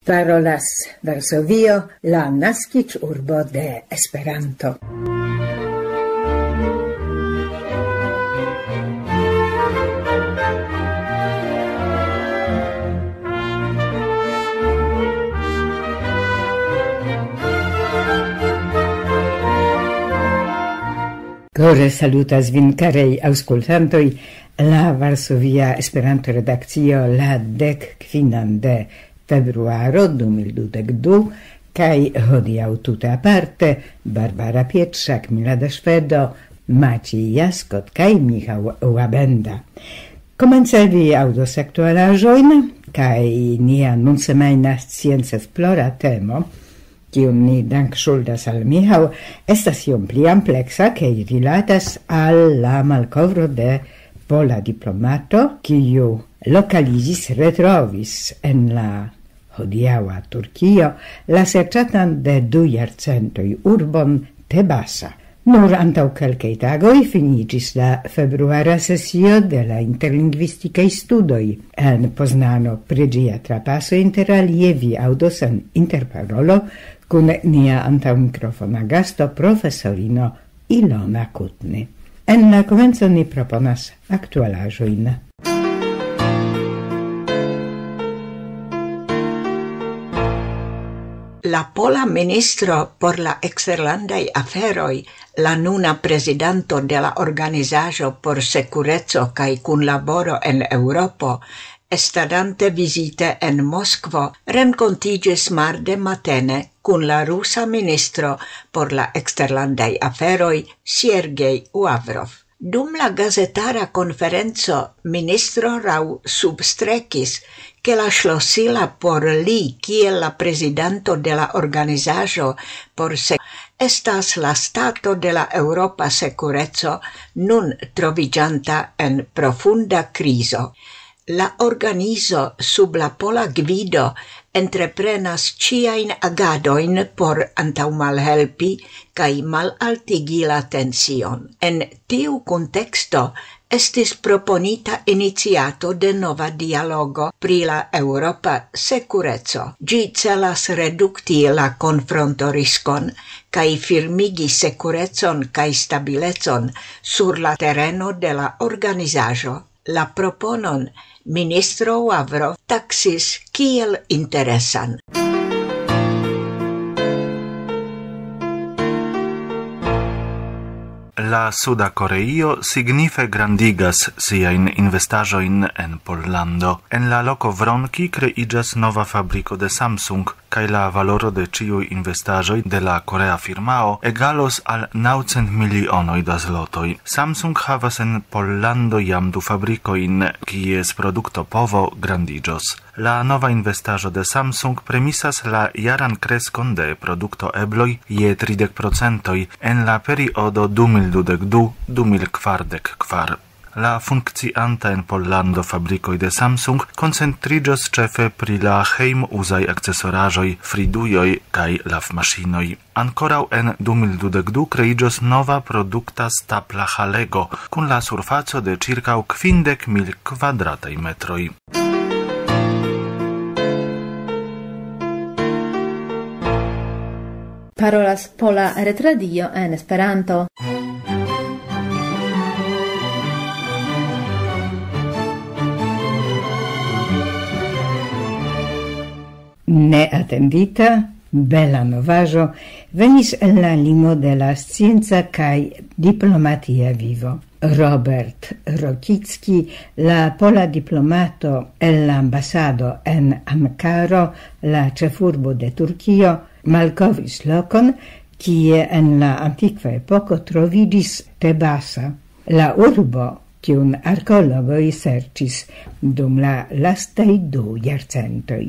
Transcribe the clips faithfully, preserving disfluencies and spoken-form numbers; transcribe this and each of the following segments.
Parolas Varsovio, la naskiĝurbo de Esperanto. Kore salutas vin, karaj aŭskultantoj. La Varsovia Esperanto-redakcio, la dek kvinan de februaro du mil dudek du, kaj hodiaŭ tute aparte Barbara Pietrzak, Milada Szwedo, Maciej Jaskot kaj Michał Łabęda. Komence vi aŭdos aktualaĵojn, kaj nia nunsemajna science-esplora temo, kiun ni dankŝuldas al Michał, estas iom pli ampleksa, kaj rilatas al la malkovro de pola diplomato, kiu lokaliĝis, retrovis en la hodiaŭa Turkio la serĉatan de du jarcentoj urbon Tebasa. Nur antaŭ kelkaj tagoj finiĝis la februara sesio de la interlingvistikaj studoj en Poznano. Pri ĝia trapaso, inter alie, vi aŭdos en interparolo kun nia antaŭmikrofona gasto, profesorino Ilona Kutny. En la komenco ni proponas aktualaĵojn. La pola ministro por la eksterlandaj aferoj, la nuna prezidanto de la Organizaĵo por Sekureco kaj Kunlaboro en Eŭropo, estadante vizite en Moskvo, renkontiĝis marde matene kun la rusa ministro por la eksterlandaj aferoj, Sergej Lavrov. Dum la gazetara konferenco ministro Rau substrekis, ke la ŝlosila por li kiel la prezidanto de la organizaĵo por se estas la stato de la Eŭropa sekureco, nun troviĝanta en profunda krizo. La organizo sub la pola gvido entreprenas ĉiajn agadojn por antaŭmalhelpi kaj malaltigi la tension. En tiu kunteksto estis proponita iniciato de nova dialogo pri la eŭropa sekureco. Ĝi celas redukti la konfrontoriskon kaj firmigi sekurecon kaj stabilecon sur la tereno de la organizaĵo. La proponon ministro Lavrov taksis kiel interesan. La Suda Koreio signife grandigas siajn investaĵojn en Pollando. En la loko Vronki kreiĝas nova fabriko de Samsung, kaj la valoro de ĉiuj investaĵoj de la korea firmao egalos al naŭcent milionoj da zlotoj. Samsung havas en Pollando jam du fabrikojn, kies produktopovo grandiĝos. La nova investaĵo de Samsung premisas la jaran kreskon de produktoebloj je tridek procentoj en la periodo du mil dudek du, du mil kvardek kvar. La funkcianta en Pollando fabrikoj de Samsung koncentriĝos ĉefe pri la hejmuzaj akcesoraĵoj, fridujoj kaj lavmaŝinoj. Ankoraŭ en du mil dudek du kreiĝos nova produkta stapla halego kun la surfaco de ĉirkaŭ kvindek mil kvadrataj metroj. Parolas Pola Retradio en Esperanto. Neatendita, bela novaĵo venis el la limo de la scienca kaj diplomatia vivo. Robert Rokicki, la pola diplomato el la ambasado en Ankaro, la ĉefurbo de Turkio, malkovris lokon, kie en la antikva epoko troviĝis Tebasa, la urbo, kiun arkeologoj serĉis dum la lastaj du jarcentoj.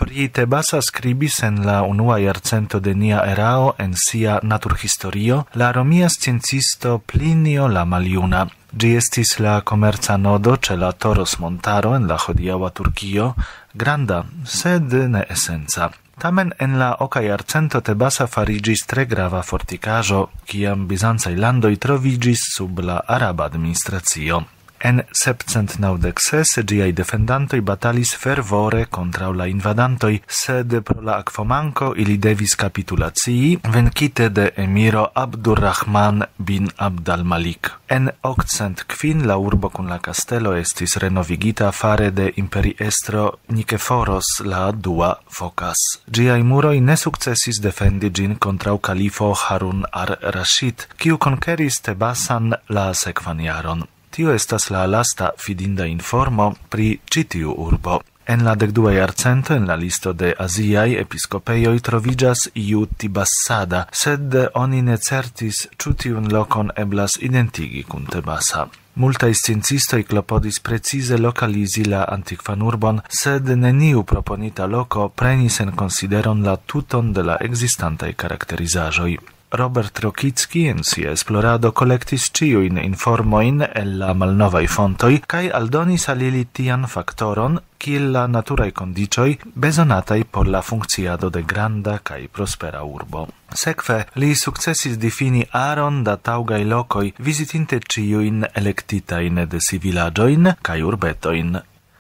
Pri Tebasa skribis en la unua jarcento de nia erao en sia naturhistorio la romia sciencisto Plinio la Maljuna. Ĝi estis la komerca nodo ĉe la Toros montaro en la hodiaŭa Turkio, granda, sed ne esenca. Tamen en la oka jarcento Tebasa fariĝis tre grava fortikaĵo, kiam bizancaj landoj troviĝis sub la araba administracio. En sepcent naŭdek ses ĝiaj defendantoj batalis fervore kontraŭ la invadantoj, sed pro la akvomanko ili devis kapitulacii, venkite de emiro Abdurrahman bin Abdal Malik. En okcent kvin la urbo kun la kastelo estis renovigita fare de imperiestro Nikeforos la dua Fokas. Ĝiaj muroj ne sukcesis defendi ĝin kontraŭ kalifo Harun ar-Rashid, kiu konkeris Tebasan la sekvan jaron. Tio estas la lasta fidinda informo pri ĉi tiu urbo. En la dekdua jarcento en la listo de aziaj episkopejoj troviĝas iu Tibassada, sed oni ne certis, ĉu tiun lokon eblas identigi kun Tebasa. Multaj sciencistoj klopodis precize lokalizi la antikvan urbon, sed neniu proponita loko prenis en konsideron la tuton de la ekzistantaj karakterizaĵoj. Robert Rokicki en sia esplorado kolektis ĉiujn informojn el la malnovaj fontoj kaj aldonis al ili tian faktoron, kiel la naturaj kondiĉoj bezonataj por la funkciado de granda kaj prospera urbo. Sekve, li sukcesis difini aron da taŭgaj lokoj, vizitinte ĉiujn elektitajn de si vilaĝojn kaj urbetojn.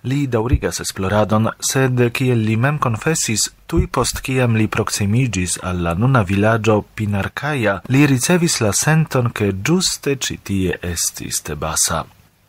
Li daŭrigas esploradon, sed kiel li mem konfesis, tuj post kiam li proksimiĝis al la nuna vilaĝo Pinarkaja, li ricevis la senton, ke ĝuste ĉi tie estis Tebasa.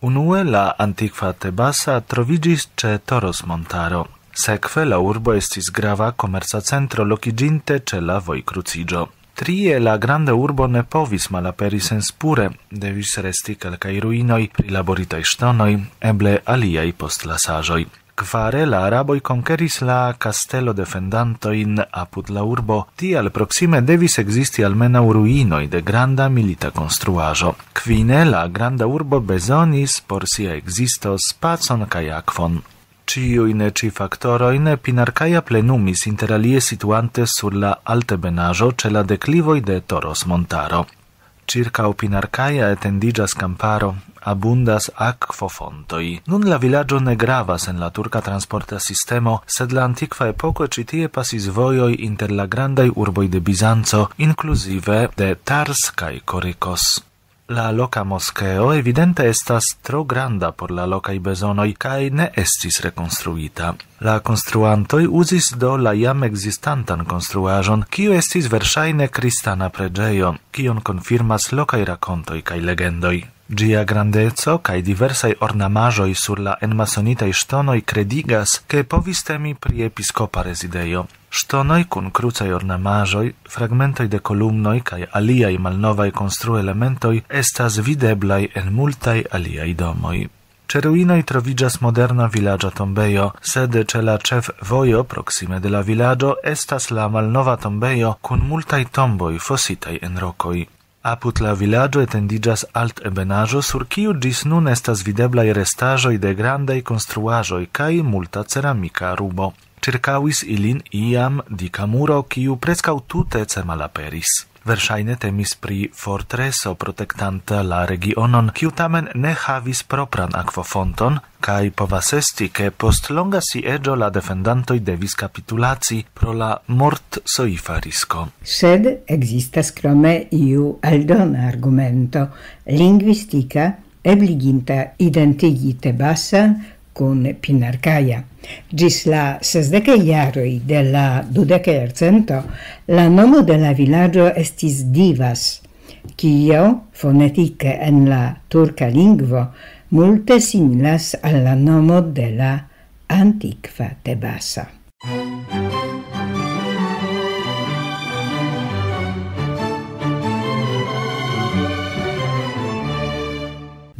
Unue la antikva Tebasa troviĝis ĉe Toros montaro. Sekve la urbo estis grava komerca centro lokiĝinte ĉe la vojkruciĝo. Trie la granda urbo ne povis malaperi senspure, devis resti kelkaj ruinoj, prilaboritaj ŝtonoj, eble aliaj postlasaĵoj. Kvare la araboj konkeris la kastelo defendantojn apud la urbo, tial proksime devis ekzisti almenaŭ ruinoj de granda milita konstruaĵo. Kvine la granda urbo bezonis por sia ekzisto spacon kaj akvon. Ĉiujn ĉi faktorojn Pinarkaja plenumis, inter alie situante sur la altebenaĵo ĉe la deklivoj de Toros montaro. Ĉirkaŭ Pinarkaja etendiĝas kamparo, abundas akvofontoj. Nun la vilaĝo ne gravas en la turka transporta sistemo, sed la antikva epoko ĉi tie pasis vojoj inter la grandaj urboj de Bizanco, inkluzive de Tars kaj Korikos. La loka moskeo evidente estas tro granda por la lokaj bezonoj kaj ne estis rekonstruita. La konstruantoj uzis do la jam ekzistantan konstruaĵon, kiu estis verŝajne kristana preĝejo, kion konfirmas lokaj rakontoj kaj legendoj. Ĝia grandeco kaj diversaj ornamaĵoj sur la enmasonitaj ŝtonoj kredigas, ke povis temi pri episkopa rezidejo. Ŝtonoj kun krucaj ornamaĵoj, fragmentoj de kolumnoj kaj aliaj malnovaj konstruelementoj estas videblaj en multaj aliaj domoj. Ĉe ruinoj troviĝas moderna vilaĝa tombejo, sed ĉe la ĉefvojo proksime de la vilaĝo estas la malnova tombejo kun multaj tomboj fositaj en rokoj. Apud la vilaĝo etendiĝas altebenaĵo, sur kiu ĝis nun estas videblaj restaĵoj de grandaj konstruaĵoj kaj multa ceramika rubo. Ĉirkaŭis ilin iam dika muro, kiu preskaŭ tute cemalaperis. Verŝajne temis pri fortreso protektanta la regionon, kiu tamen ne havis propran akvofonton, kaj povas esti, ke post longa sieĝo la defendantoj devis kapitulaci pro la mortsoifa risko. Sed ekzistas krome iu aldona argumento lingvistika, ebliginta identigi Tebasan kun Pinarkaja. Ĝis la sesdekaj jaroj de la dudeka jarcento la nomo de la vilaĝo estis Divas, kio fonetike en la turka lingvo multe similas al la nomo de la antikva Tebasa.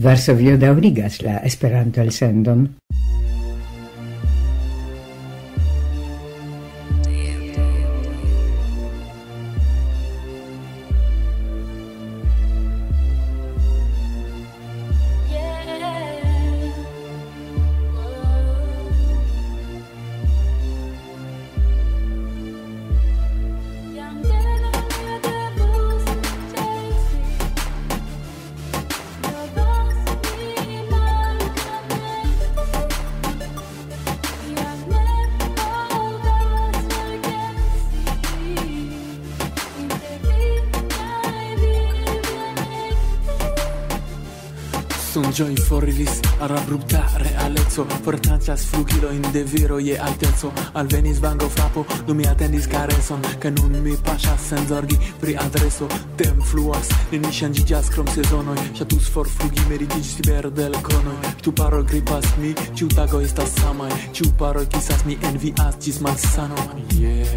Varsovio daŭrigas la Esperanto-elsendon. Sonĝoj foriris al abrupta realeco, fortaĉas flugilojn de viro je alteco. Alvenis vango frapo, do mi atendis kareson, ke nun mi paŝas sen zorgi pri adreso. Tem fluas, neniu ŝanĝiĝas krom sezonoj. Ŝatus forflugi, meritiĝis per delkonoj. Ĉu paro gripas mi, ĉu tago estas samaj, ĉu paro kisas mi, envias ĝis malsano. Yeah.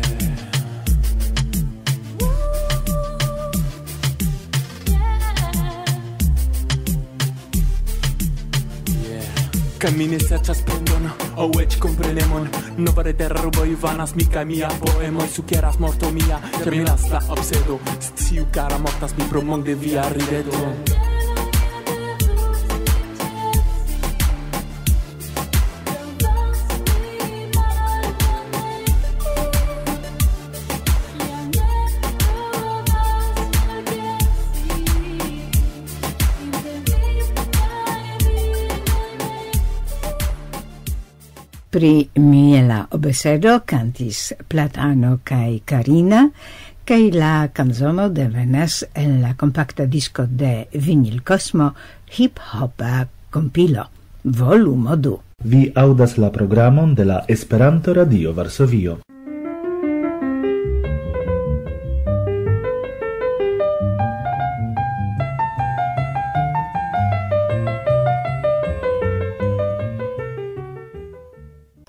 Kaj mi ne serĉas plendon, aŭ eĉ komprenemon. Nova reterarboj vanas mi kaj mia poemoj sukeras morto mia, terminas la obsedo. Sciu, kara, mortas mi pro monge via rideto. Pri miela obesedo kantis Platano kaj Karina, kaj la kanzono devenas el la kompakta disko de Vinil Cosmo, hip-hopa kompilo, volumo du. Vi aŭdas la programon de la Esperanto Radio Varsovio.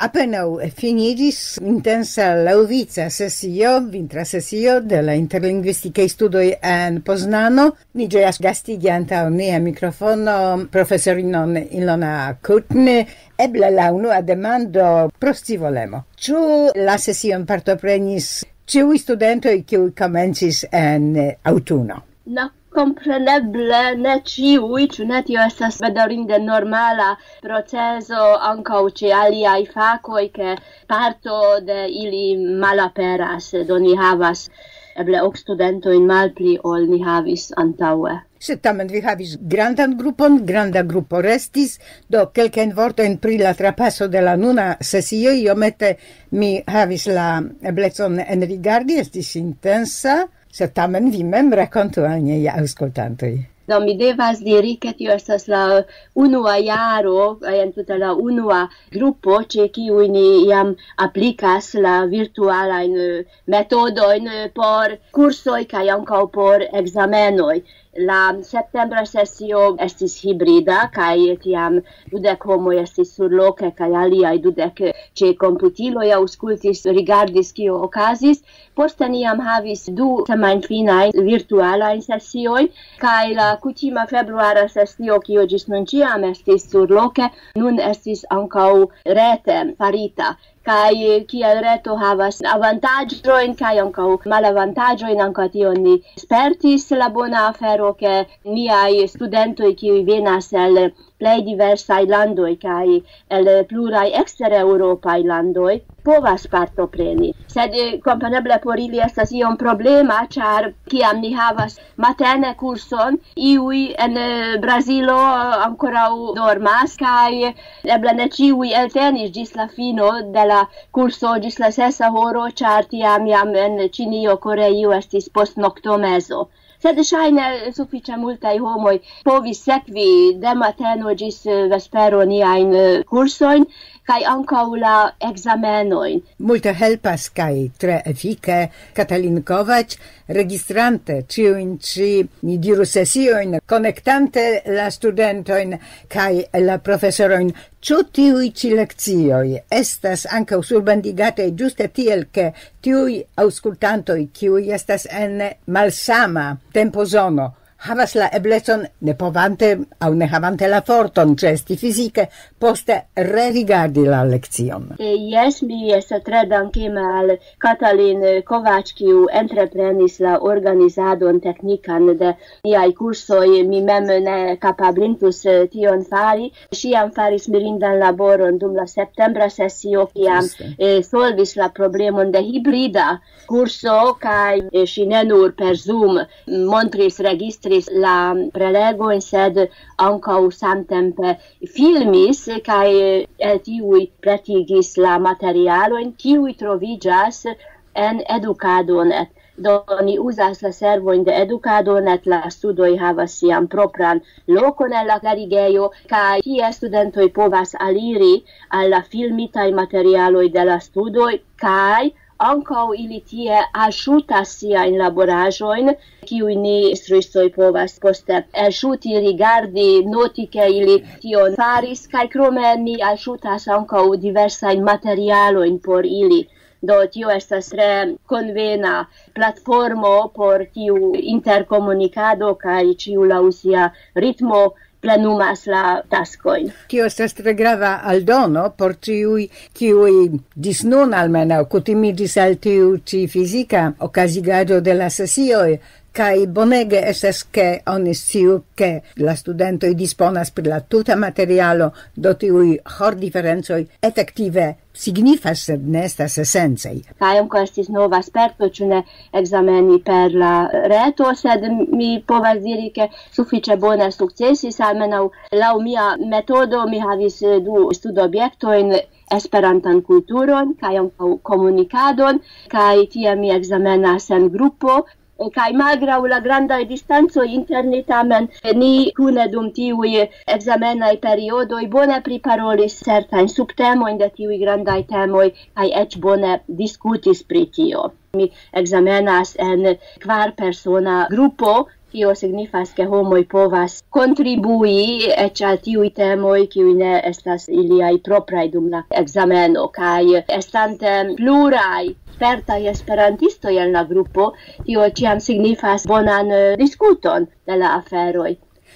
Apenaŭ finiĝis intensa laŭvica sesio, vintra sesio de la interlingvistikaj studoj en Poznano. Ni ĝojas gastigi antaŭ nia mikrofono profesorinon Ilona Kutny. Eble la unua demando pro scivolemo. Ĉu la sesion partoprenis ĉiuj studentoj, kiuj komencis en aŭtuno? No, kompreneble ne ĉiuj, ĉu ne? Tio estas bedaŭrinde normala procezo ankaŭ ĉe aliaj fakoj, ke parto de ili malaperas, do ni havas eble ok studentojn malpli ol ni havis antaŭe. Sed tamen vi havis grandan grupon, granda grupo restis, do kelkajn vortojn pri la trapaso de la nuna sesio, iomete mi havis la eblecon enrigardi, estis intensa, sed tamen vi mem rakontu al niaj aŭskultantoj. Do mi devas diri, ke tio estas la unua jaro, kaj entute la unua grupo, ĉe kiuj ni jam aplikas la virtualajn, eh, metodojn, eh, por kursoj kaj ankaŭ por ekzamenoj. La septembra sesio estis hibrida, kaj tiam dudek homoj estis surloke, kaj aliaj dudek ĉe komputiloj aŭskultis, rigardis, kio okazis. Poste ni jam havis du semajnfinajn virtualajn sesiojn, kaj la kutima februara sesio, kio ĝis nun ĉiam estis surloke, nun estis ankaŭ rete farita. Kaj kiel reto havas avantaĝojn kaj ankaŭ malavantaĝojn, ankaŭ tion ni spertis, la bona afero, ke niaj studentoj, kiuj venas el plej diversaj landoj kaj el pluraj ekstereŭropaj landoj, povas partopreni. Sed, eh, kompreneble por ili estas iom problema, ĉar kiam ni havas matene kurson, iuj en, eh, Brazilo, eh, ankoraŭ dormas, kaj eble ne ĉiuj eltenis ĝis la fino de la kurso, ĝis la sesa horo, ĉar tiam jam en Ĉinio, Koreio estis postnoktomezo. Sed ŝajne sufiĉe multaj homoj povis sekvi de mateno ĝis, eh, vespero niajn, eh, kursojn, kaj ankaŭ la ekzamenojn. Multe helpas kaj tre efike Katalin Kovac, registrante ĉiujn ĉi, ni diru, sesiojn, konektante la studentojn kaj la profesorojn. Ĉu tiuj ĉi lekcioj estas ankaŭ surbendigataj ĝuste tiel, ke tiuj aŭskultantoj, kiuj estas en malsama tempozono, havas la eblecon, ne povante aŭ ne havante la forton ĉeesti fizike, poste rerigardi la lekcion? Eh, jes, mi estas tre dankema al Katalin Kovac, kiu entreprenis la organizadon teknikan de niaj kursoj. Mi mem ne kapablintus, eh, tion fari. Ŝi jam faris mirindan laboron dum la septembra sesio, kiam, Ĝuste. eh, solvis la problemon de hibrida kurso, kaj, eh, ŝi ne nur per Zoom montris, registris la prelegojn, sed ankaŭ samtempe filmis, kaj, eh, el tiuj pretigis la materialojn, kiuj troviĝas en Educadonet. Do ni uzas la servojn de edukado, net la studoj havas sian propran lokon en la klarigejo, kaj tie studentoj povas aliri al la filmitaj materialoj de la studoj, kaj ankaŭ ili tie alŝutas siajn laboraĵojn, kiuj ni instruistoj povas poste elŝuti, rigardi, noti, ke ili tion faris, kaj krome ni alŝutas ankaŭ diversajn materialojn por ili. Do tio estas tre konvena platformo por tiu interkomunikado, kaj ĉiu laŭ sia ritmo plenumas la taskojn. Tio estas tre grava aldono por ĉiuj, kiuj ĝis nun almenaŭ kutimiĝis al tiu ĉi fizika okazigaĵo de la sesioj, kaj bonege estas, ke oni sciu, ke la studentoj disponas pri la tuta materialo, do tiuj hordiferencoj efektive signifas, sed ne estas esencaj. Kaj ankaŭ estis nova sperto, ĉu ne, ekzameni per la reto, sed mi povas diri, ke sufiĉe bone sukcesis, almenaŭ laŭ mia metodo. Mi havis, eh, du studobjektojn, esperantan kulturon kaj ankaŭ komunikadon, kaj tie mi ekzamenas en grupo, kaj malgraŭ la grandaj distancoj inter ni, tamen ni kune dum tiuj ekzamenaj periodoj bone priparolis certajn subtemojn de tiuj grandaj temoj, kaj eĉ bone diskutis pri tio. Mi ekzamenas en kvarpersona grupo, tio signifas, ke homoj povas kontribui eĉ al tiuj temoj, kiuj ne estas iliaj propraj dum la ekzameno, kaj estante pluraj spertaj esperantistoj en la grupo, tio ĉiam signifas bonan, eh, diskuton de la aferoj.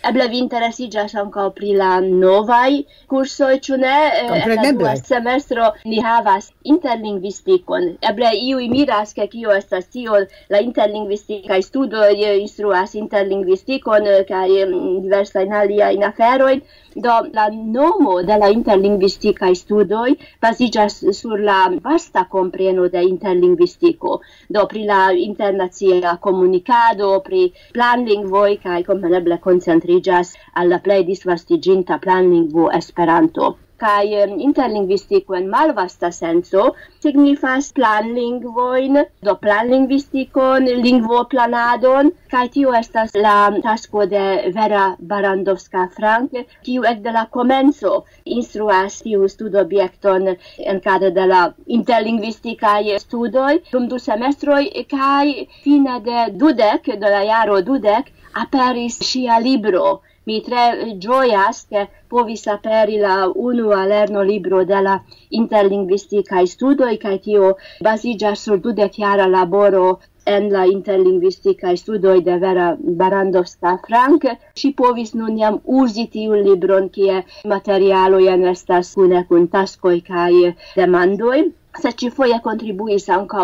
Eble vi interesiĝas ankaŭ pri la novaj kursoj, ĉu ne? Eh, en la Kompreneble. Dua semestro ni havas interlingvistikon. Eble iuj miras, ke kio estas tio, la interlingvistikaj studoj, eh, instruas interlingvistikon, eh, kaj, mm, diversajn aliajn aferojn. Do la nomo de la interlingvistikaj studoj baziĝas sur la vasta kompreno de interlingvistiko. Do pri la internacia komunikado, pri planlingvoj, kaj kompreneble koncentriĝas al la plej disvastiĝinta planlingvo, Esperanto. Kaj, em, interlingvistiko en malvasta senco signifas planlingvojn, do planlingvistikon, lingvoplanadon, kaj tio estas la tasko de Vera Barandowska-Frank, kiu ekde la komenco instruas tiu studobjekton en kadre de la interlingvistikaj studoj dum du semestroj, kaj fine de dudek, de la jaro dudek, aperis ŝia libro. Mi tre ĝojas, ke povis aperi la unua lernolibro de la interlingvistikaj studoj, kaj tio baziĝas sur dudekjara laboro en la interlingvistikaj studoj de Vera Barandowska-Frank. Ŝi povis nun jam uzi tiun libron, kie materialoj en estas kune kun taskoj kaj demandoj. Sed ĉifoje kontribuis ankaŭ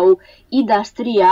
Ida Stria,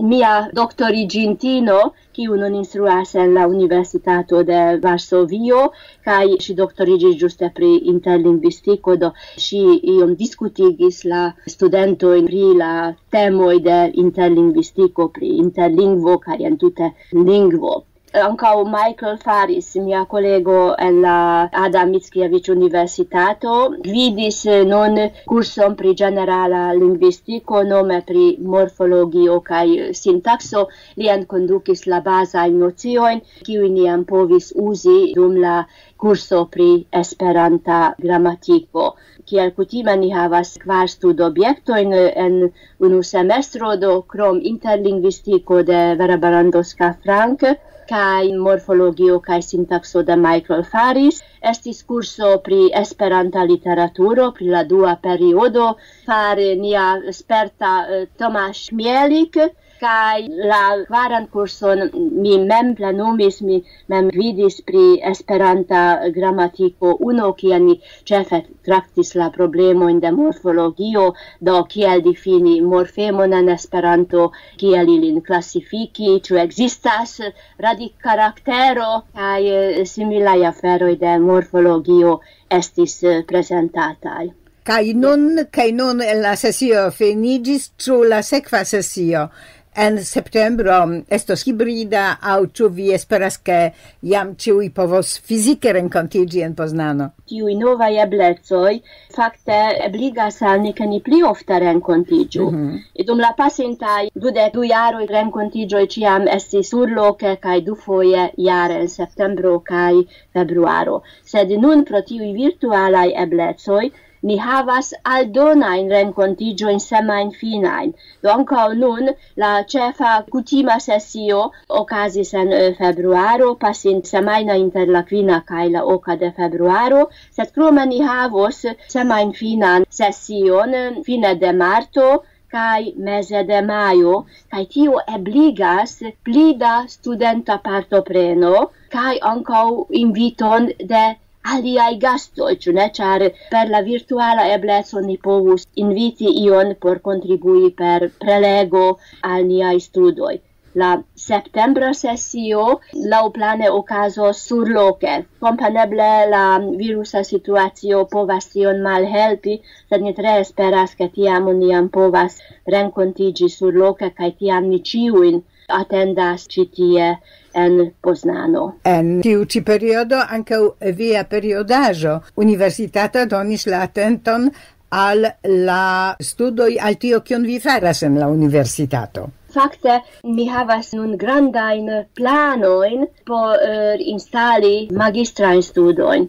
mia doktoriĝintino, kiu nun instruas en la Universitato de Varsovio, kaj ŝi doktoriĝis ĝuste pri interlingvistiko, do ŝi iom diskutigis la studentojn pri la temoj de interlingvistiko, pri interlingvo kaj entute lingvo. Ankaŭ Michael Faris, mia kolego en la Adam Mickiewicz Universitato, gvidis, eh, nun kurson pri ĝenerala lingvistiko, nome pri morfologio kaj sintakso. Li enkondukis la bazajn nociojn, kiujn ni jam povis uzi dum la kurso pri Esperanta gramatiko. Kiel kutime, ni havas kvar studobjektojn en unu semestro, do krom interlingvistiko de Vera Barandowska-Frank kaj morfologio kaj sintakso de Michael Faris, estis kurso pri Esperanta literaturo, pri la dua periodo, fare nia sperta, eh, Tomasz Mielik, kaj la kvaran kurson mi mem plenumis, mi mem gvidis pri Esperanta gramatiko uno, kie ni ĉefe traktis la problemojn de morfologio, do kiel difini morfemon en Esperanto, kiel ilin klasifiki, ĉu ekzistas radikkaraktero, kaj, eh, similaj aferoj de morfologio estis, eh, prezentataj. Kaj nun, kaj nun la sesio finiĝis, ĉu la sekva sesio En septembro estos hibrida, aŭ ĉu vi esperas, ke jam ĉiuj povos fizike renkontiĝi en Poznano? Tiuj novaj eblecoj fakte ebligas al ni, ke ni pli ofte renkontiĝu. Mhm. Dum la pasintaj dudek du jaroj renkontiĝoj ĉiam estis surloke kaj dufoje jare, en septembro kaj februaro. Sed nun, pro tiuj virtualaj eblecoj, ni havas aldonajn renkontiĝojn semajnfinajn. Do ankaŭ nun la ĉefa kutima sesio okazis en, eh, februaro, pasinta semajno inter la kvina kaj la oka de februaro, sed krome ni havos semajnfinan sesion, eh, fine de marto kaj meze de majo, kaj tio ebligas pli da studenta partopreno kaj ankaŭ inviton de aliaj gastoj, ĉu ne? Ĉar per la virtuala ebleco ni povus inviti ion por kontribui per prelego al niaj studoj. La septembra sesio laŭplane okazos surloke. Kompreneble la virusa situacio povas tion malhelpi, sed ni tre esperas, ke tiam ni jam povas renkontiĝi surloke, kaj tiam ni ĉiujn atendas ĉi tie en Poznano. En tiu ĉi periodo ankaŭ via periodaĵo universitata donis la atenton al la studoj, al tio, kion vi faras en la universitato. Fakte, mi havas nun grandajn planojn por, eh, instali magistrajn studojn,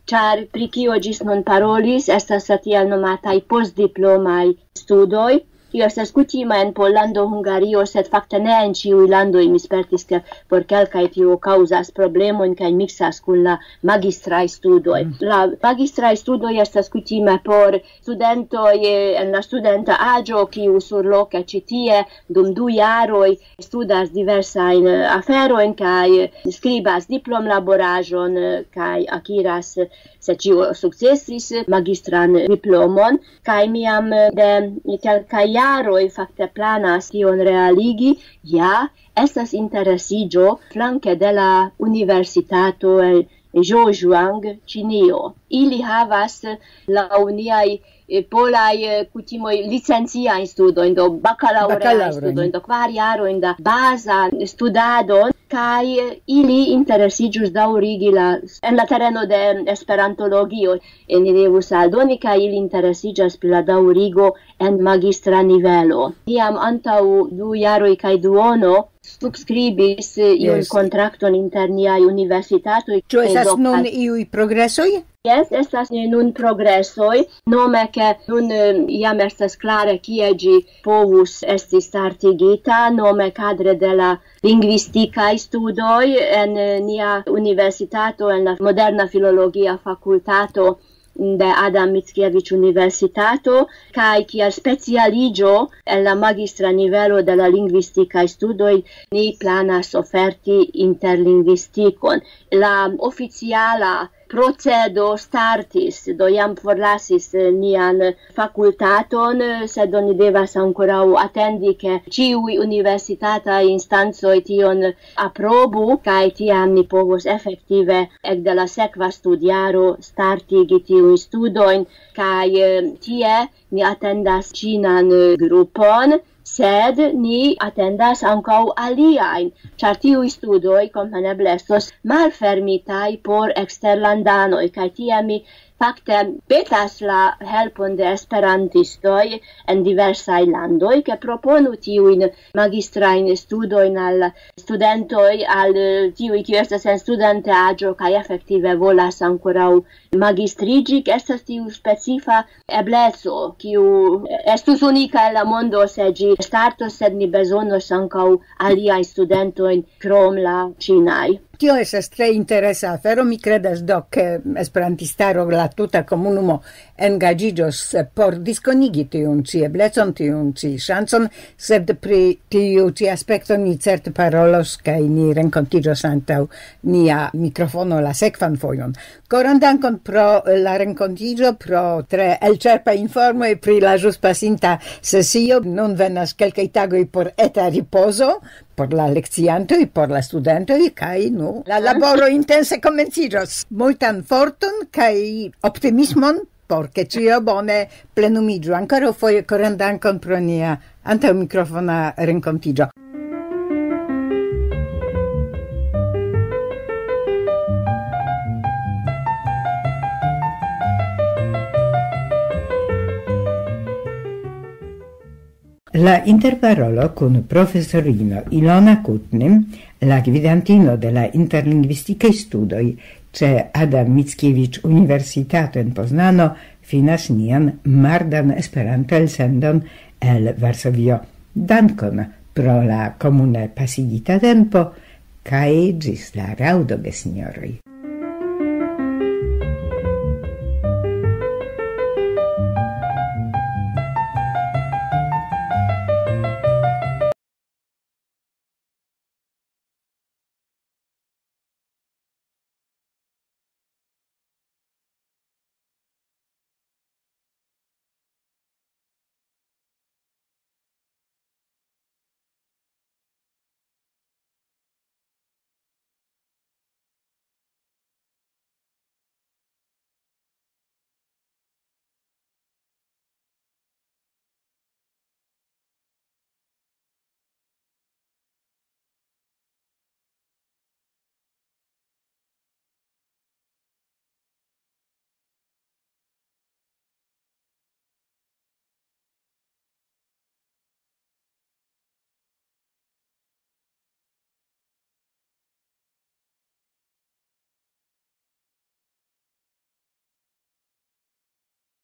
ĉar pri kio ĝis nun parolis, estas la tiel nomataj postdiplomaj studoj. Tio estas kutima en Pollando, Hungario, sed fakte ne en ĉiuj landoj. Mi spertis, ke por kelkaj tio kaŭzas problemojn kaj miksas kun la magistraj studoj. Mm. La magistraj studoj estas kutime por studentoj, eh, en la studenta aĝo, kiu surloke ĉi tie dum du jaroj studas diversajn, eh, aferojn kaj skribas diplomlaboraĵon, eh, kaj akiras, se ĉio sukcesis, magistran diplomon. Kaj mi jam, eh, de kelkaj jaroj fakte planas tion realigi. Ja, estas interesiĝo flanke de la universitato en Zhejiang, Ĉinio. Ili havas laŭ niaj, eh, polaj, eh, kutimoj licenciajn studojn, do bakalaŭreajn Bakalaŭrojn. Studojn, do kvar jarojn da baza studado, kaj, eh, ili interesiĝus daŭrigi la, en la tereno de esperantologio, eh, ni devus aldoni, kaj ili interesiĝas pri la daŭrigo en magistra nivelo. Tiam antaŭ du jaroj kaj duono subskribis, eh, iun Jes. kontrakton inter niaj universitatoj. Ĉu estas Kaj do nun iuj progresoj? Jes, estas nun progresoj. Nome, ke nun, eh, jam estas klare, kie ĝi povus esti startigita, nome kadre de la lingvistikaj studoj en, eh, nia universitato, en la moderna filologia fakultato de Adam Mickiewicz Universitato, kaj kiel specialiĝo en la magistra nivelo de la lingvistikaj studoj ni planas oferti interlingvistikon. La oficiala procedo startis, do jam forlasis, eh, nian fakultaton, eh, sed oni devas ankoraŭ atendi, ke ĉiuj universitataj instancoj tion aprobu, kaj tiam ni povos efektive ekde la sekva studjaro startigi tiujn studojn, kaj, eh, tie ni atendas ĉinan, eh, grupon, sed ni atendas ankaŭ aliajn, ĉar tiuj studoj kompreneble estos malfermitaj por eksterlandanoj, kaj tiam mi fakte petas la helpon de esperantistoj en diversaj landoj, ke proponu tiujn magistrajn studojn al studentoj, al, eh, tiuj, kiuj estas en studenteaĝo kaj efektive volas ankoraŭ magistriĝi, ke estas tiu specifa ebleco, kiu estus unika en la mondo, se ĝi startos, sed ni bezonos ankaŭ aliajn studentojn krom la ĉinaj. Tio estas tre interesa afero. Mi kredas do, ke esperantistaro, la tuta komunumo engaĝiĝos por diskonigi tiun ĉi eblecon, tiun ĉi ŝancon, sed pri tiu ĉi aspekto ni certe parolos, kaj ni renkontiĝos antaŭ nia mikrofono la sekvan fojon. Koran dankon pro la renkontiĝo, pro tre elĉerpa informoj pri la ĵus pasinta sesio. Nun venas kelkaj tagoj por eta ripozo, por la lekciantoj, por la studentoj, kaj, nu, la laboro intense komenciĝos. Multan forton kaj optimismon, por ke ĉio bone plenumiĝu. Ankoraŭ foje koran dankon pro nia antaŭ mikrofona renkontiĝo. La interparolo kun profesorino Ilona Kutnim, la gvidantino de la interlingvistikaj studoj ĉe Adam Mickiewicz Universitato en Poznano, finas nian mardan Esperanto-elsendon el Varsovio. Dankon pro la komune pasigita tempo, kaj ĝis la raŭdo, gesinjoroj.